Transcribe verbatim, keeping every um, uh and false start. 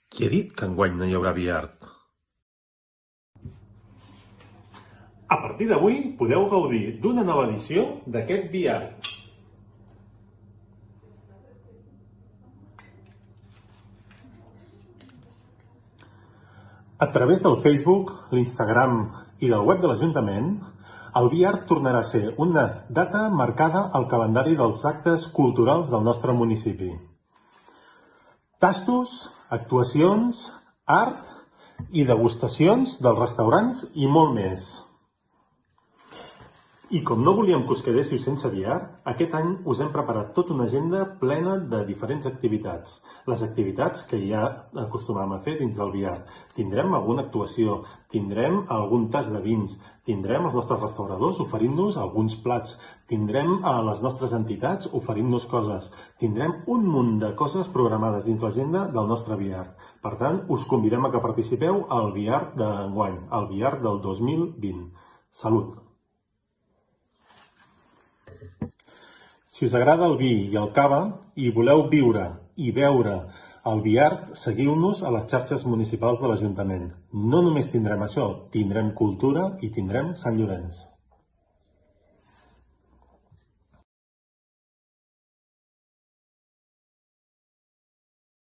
Qui ha dit que enguany no hi haurà Biart? A partir d'avui podeu gaudir d'una nova edició d'aquest Biart. A través del Facebook, l'Instagram i del web de l'Ajuntament, el Biart tornarà a ser una data marcada al calendari dels actes culturals del nostre municipi. Tastos, actuacions, art i degustacions dels restaurants i molt més. I com no volíem que us quedéssiu sense Biart, aquest any us hem preparat tota una agenda plena de diferents activitats. Les activitats que ja acostumàvem a fer dins del Biart. Tindrem alguna actuació, tindrem algun tas de vins, tindrem els nostres restauradors oferint-nos alguns plats, tindrem a les nostres entitats oferint-nos coses, tindrem un munt de coses programades dins l'agenda del nostre Biart. Per tant, us convidem a que participeu al Biart d'enguany, al Biart del dos mil vint. Salut! Si us agrada el vi i el cava i voleu viure i beure el Biart, seguiu-nos a les xarxes municipals de l'Ajuntament. No només tindrem això, tindrem cultura i tindrem Sant Llorenç.